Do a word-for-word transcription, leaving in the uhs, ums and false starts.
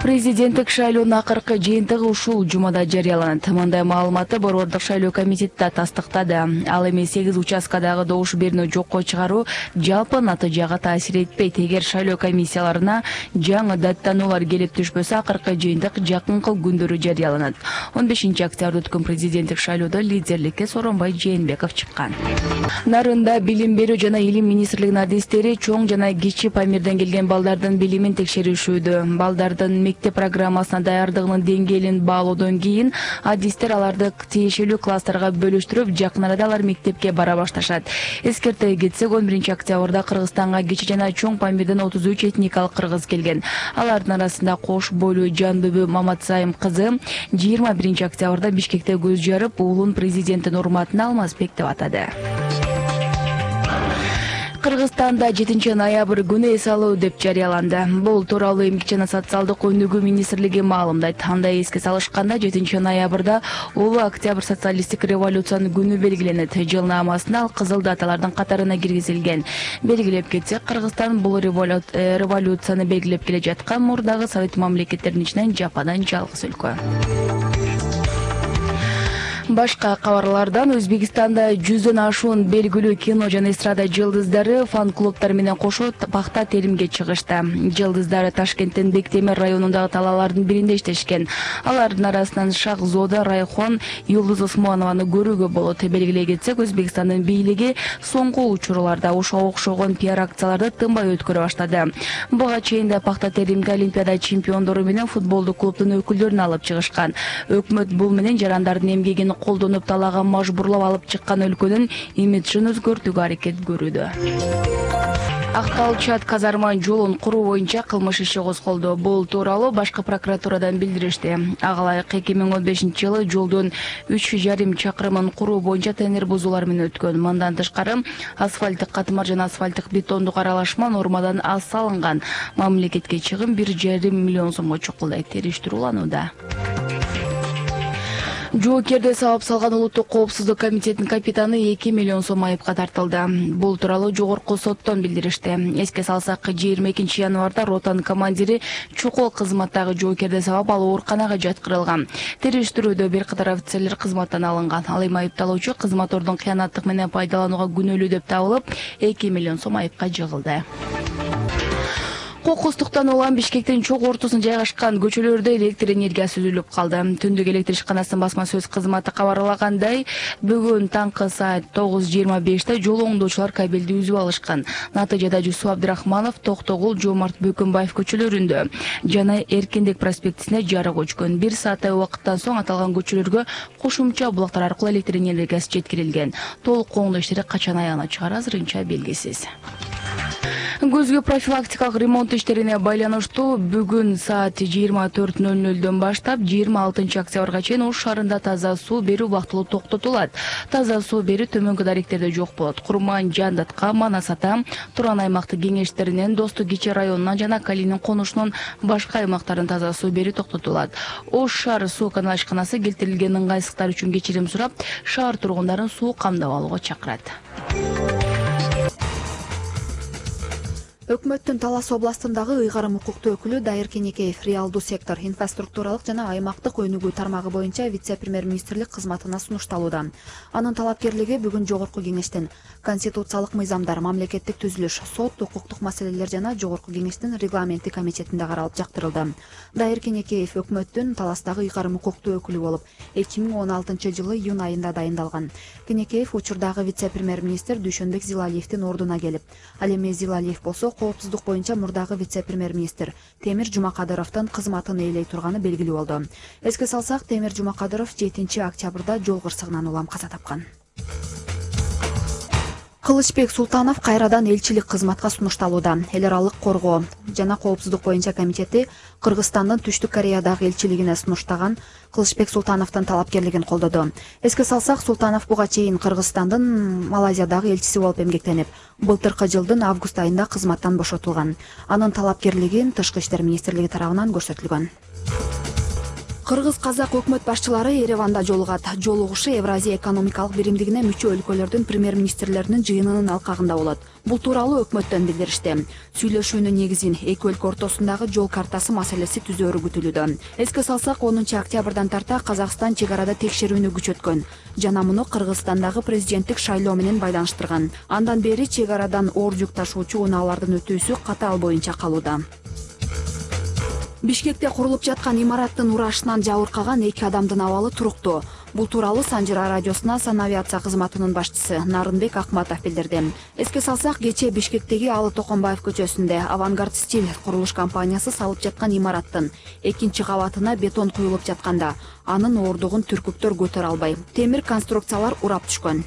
Президенттик шайлоонун акыркы жыйынтыгы ушул жумада жарыяланат. Мындай маалыматты Борбордук шайлоо комитети тастыктады. Ал эми сегиз участкадагы добуш берүүнү жокко чыгаруу жалпы натыйжага таасир этпейт. Эгер шайлоо комиссияларына жаңы даттануулар келип түшпөсө, акыркы жыйынтык жакынкы күндөрү жарыяланат. он бешинчи октябрда өткөн президенттик шайлоодо лидерликке Сооронбай Жээнбеков чыккан. Нарында билим берүү жана илим министрлигинин адистери чоң жана кичи Памирден келген балдардын билимин текшеришүүдө. Балдардын мектеп программасына даярдыгынын деңгээлин баалоодон кийин адистер аларды тиешелүү класстарга бөлүштүрүп, жакын арада алар мектепке бара башташат. Эскерте кетсек, он биринчи октябрда Кыргызстанга кичи жана чоң Памирден отуз үч этникалык кыргыз келген. Алардын арасында Кош бойлуу Жанбүбү Маматсайым кызы жыйырма биринчи октябрда Бишкекте көз жарып, уулун президенттин урматына Алмазбек деп атады. Кыргызстанда жетинчи ноябрь күнү эс алуу деп жарыяланды. Бул тууралуу Эмгек жана социалдык өнүгүү министрлиги маалымдайт. Андай эске салышканда жетинчи ноябрда улуу октябрь социалисттик революциянын күнү белгиленет. Жылнаамасында ал кызыл даталардын катарына киргизилген. Белгилеп кетсек, Кыргызстан бул революцияны белгилеп келе жаткан мурдагы совет мамлекеттеринин ичинен жападан жалгыз өлкө. Башка кабарлардан Өзбекстанда жүздөн ашуун белгилүү кино жана эстрада жылдыздары фан-клубтар менен кошо пахта теримге чыгышты. Жылдыздары Ташкенттин Бектемир районундагы талаалардын биринде иштешкен. Алардын арасынан Шахзода Райхон, Юлдуз Усманованы көрүүгө болот. Белгилей кетсек, Өзбекстандын бийлиги соңку учурларда ошого окшогон пиар акцияларды тынбай өткөрө баштады. Буга чейин да пахта теримге Олимпиада чемпиондору менен футболдук клубдун өкүлдөрүн алып чыгышкан. Өкмөт бул менен жарандардын эмгегин колдонуп талаага мажбурлап алып чыккан өлкөнүн имиджин өзгөртүүгө аракет көрүүдө. Актал-Чат казарма жолун куруу боюнча кылмыш иши козголду. Бул тууралуу башкы прокуратурадан билдиришти. Ага ылайык эки миң он бешинчи жылы жолдун үч жарым чакырымын куруу боюнча тендер бузуулар менен өткөн. Мындан тышкары асфальттык катмар жана асфальттык бетондук аралашма нормадан аз салынган. Мамлекетке чыгым бир жарым миллион сомго чукулдайт. Териштирүү уланууда. Жоокерде сабап салган Улуттук коопсуздук комитетинин капитаны эки миллион сом айыпка тартылды. Бул тууралуу жогорку соттон билдиришти. Эске салсак, жыйырма экинчи январда ротанын командири чукул кызматтагы жоокерде сабап ал ооруканага жаткырылган. Териштирүүдө бир катар офицерлер кызматтан алынган. Ал эми айыпталуучу кызматордун кыянаттык менен пайдаланууга күнөөлүү деп табылып, эки миллион сом айыпка жыгылды. Кокустуктан улам Бишкектин чок ортосунда жайгашкан көчөлөрдө электр энергиясы үзүлүп калды. Түндүк электр ишканасынын басма сөз кызматы кабарлагандай, бүгүн таңкы саат тогуз жыйырма беште жол оңдоочулар кабелди үзүп алышкан. Натыйжада Жусуп Абдрахманов, Токтогул, Жомарт Бөкөнбаев көчөлөрүндө жана Эркиндик проспектисине жарык өчкөн. Бир сааттай убакыттан соң аталган көчөлөргө кошумча булактар аркылуу электр энергиясы жеткирилген. Толук оңдоо иштери качан аягына чыгары азырынча белгисиз. Көзгө профилактикалык ремонт иштерине байланыштуу бүгүн саат жыйырма төрт ноль нөлдөн баштап жыйырма алтынчы октябрга чейин Ош шаарында таза суу берүү убактылуу токтотулат. Таза суу берүү төмөнкү даректерде жок болот. Курман, Жандатка, Манас Ата, Туран аймактык кеңештеринен, Достук Кичи районунан жана Калинин конушунун башка аймактарын таза суу берүү токтотулат. Ош шаар суу канал ишканасы келтирилген ыңгайсыздыктар үчүн кечирим сурап, шаар тургундарын суу камдап алууга чакырат. Өкмөттүн Талас областындагы ыйгарым укуктуу өкүлү Дайыр Кенекеев реалдуу сектор, инфраструктуралык жана аймактык өнүгүү тармагы боюнча вице-премьер-министрлик кызматына сунушталууда. Анын талапкерлиги бүгүн жогорку кеңештин конституциялык мыйзамдар, мамлекеттик түзүлүш, сот, укуктук маселелер жана жогорку кеңештин регламенттик комитетинде каралып жактырылды. Дайыр Кенекеев өкмөттүн Таластагы ыйгарым укуктуу өкүлү болуп, эки миң он алтынчы жылы июнь айында дайындалган. Кенекеев учурдагы вице-премьер-министр Дүйшөнбек Зилалиевдин ордуна келип, ал эми Зилалиев болсо коопсуздук боюнча мурдагы вице-премьер-министр Темир Жумакадыровдун кызматын ээлей турганы белгилүү болду. Эске салсак, Темир Жумакадыров жетинчи октябрда жол кырсыгынан улам каза тапкан. Кылычбек Султанов кайрадан элчилик кызматка сунушталууда. Эл аралык коргоо жана коопсуздук боюнча комитети Кыргызстандын Түштүк Кореядагы элчилигине сунуштаган Кылычбек Султановдун талапкерлигин колдоду. Эске салсак, Султанов буга чейин Кыргызстандын Малайзиядагы элчиси болуп эмгектенип, былтыркы жылдын август айында кызматтан бошотулган. Анын талапкерлигин Тышкы иштер министрлиги тарабынан көрсөтүлгөн. Кыргыз-казак өкмөт башчылары Ереванда жолугат. Жолугушу Евразия экономикалык биримдигине мүчө өлкөлөрдүн премьер-министрлеринин жыйынынын алкагында болот. Бул тууралуу өкмөттөн билдиришти. Сүйлөшүүнүн негизин эки өлкө ортосундагы жол картасы маселеси түзөөрү күтүлүүдө. Эске салсак, онунчу октябрдан тарта Казакстан чек арада текшерүүнү күчөткөн жана муну Кыргызстандагы президенттик шайлоо менен байланыштырган. Андан бери чек арадан оор жүк ташуучу унаалардын өтүүсү катаал боюнча калууда. Бишкекте курулуп жаткан имараттын урашынан жабыркаган эки адамдын абалы туруктуу. Бул тууралуу Санжира радиосуна санавиация кызматынын башчысы Нарынбек Акматов билдирди. Эске салсак, кечээ Бишкектеги Алы Токонбаев көчөсүндө Авангард Стиль курулуш компаниясы салып жаткан имараттын экинчи кабатына бетон куюлуп жатканда анын оордугун түркүктөр көтөрө албай, темир конструкциялар урап түшкөн.